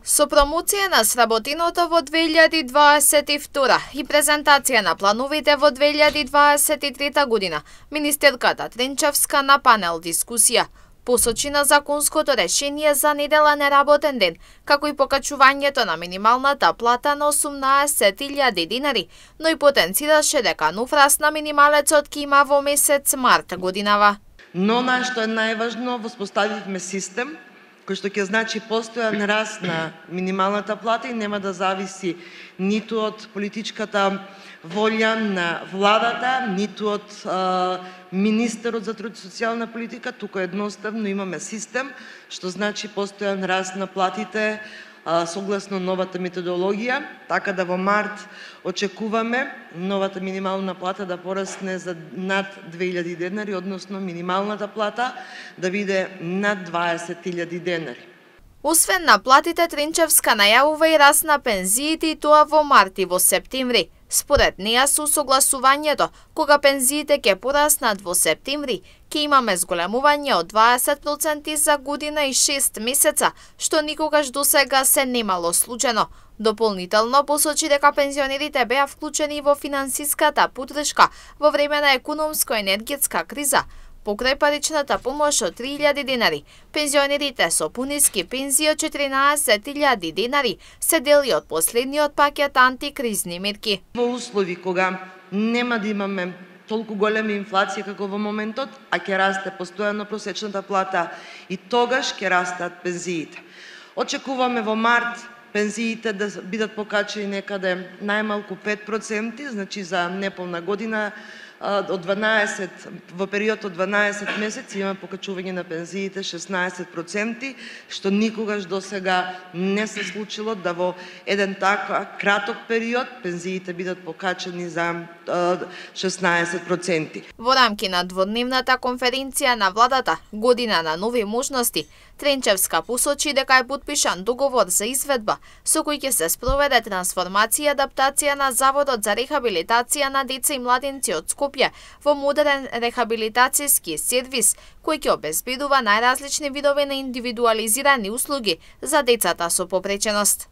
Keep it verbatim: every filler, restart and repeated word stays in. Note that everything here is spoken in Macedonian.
Со промоција на сработиното во две илјади дваесет и втора и презентација на плановите во две илјади дваесет и трета година, министерката Тренчевска на панел дискусија посочи на законското решение за недела неработен ден, како и покачувањето на минималната плата на осумнаесет илјади динари, но и потенцираше дека нов раст на минималецот ќе има во месец март годинава. Но на што е најважно, воспоставивме систем кој што ќе значи постојан раст на минималната плата и нема да зависи ниту од политичката волја на владата, ниту од а, министерот за труд и социјална политика, туку едноставно имаме систем што значи постојан раст на платите а, согласно новата методологија, така да во март очекуваме новата минимална плата да порасне за над две илјади денари, односно минималната плата да биде над дваесет илјади денари. Освен на платите, Тренчевска најавува и раст на пензиите, и тоа во март и во септември. Според неа, со согласувањето, кога пензиите ќе пораснат во септември, ќе имаме зголемување од дваесет проценти за година и шест месеца, што никогаш досега се немало случајно. Дополнително посочи дека пензионерите беа вклучени во финансиската поддршка во време на економско-енергетска криза, покрај паричната помош од три илјади денари. Пензионерите со пониски пензии од четиринаесет илјади денари се дели од последниот пакет антикризни мерки. Во услови кога нема да имаме толку голема инфлација како во моментот, а ќе расте постојано просечната плата и тогаш ќе растат пензиите. Очекуваме во март пензиите да бидат покачени некаде најмалку пет проценти, значи за неполна година од дванаесет во период од дванаесет месеци има покачување на пензиите шеснаесет проценти, што никогаш досега не се случило да во еден така краток период пензиите бидат покачени за шеснаесет проценти. Во рамки на дводневната конференција на владата Година на нови можности, Тренчевска посочи дека е потпишан договор за изведба со кој ќе се спроведе трансформација и адаптација на Заводот за рехабилитација на деца и младенци од Скопје во модерен рехабилитацијски сервис кој ќе обезбедува најразлични видови на индивидуализирани услуги за децата со попреченост.